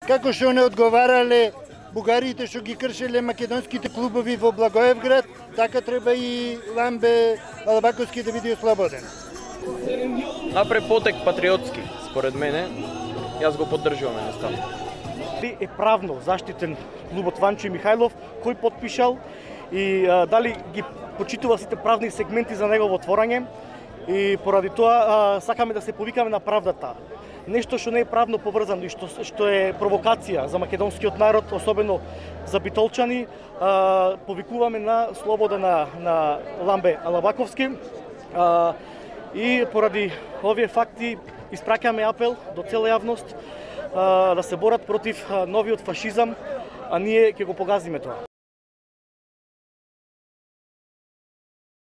Како што не одговарале бугарите што ги кршеле македонските клубови во Благоевград, така треба и Ламбе Алабаковски да биде ослободен. Напред потек патриотски, според мене, јас го поддржувам едноставно. Е правно заштитен клубот Ванчо Михајлов, кој подпишал и дали ги почитува сите правни сегменти за негово творање и поради тоа сакаме да се повикаме на правдата. Нешто што не е правно поврзано и што е провокација за македонскиот народ, особено за битолчани, повикуваме на слобода на Ламбе Алабаковски и поради овие факти испраќаме апел до цела јавност да се борат против новиот фашизам, а ние ќе го погазиме тоа.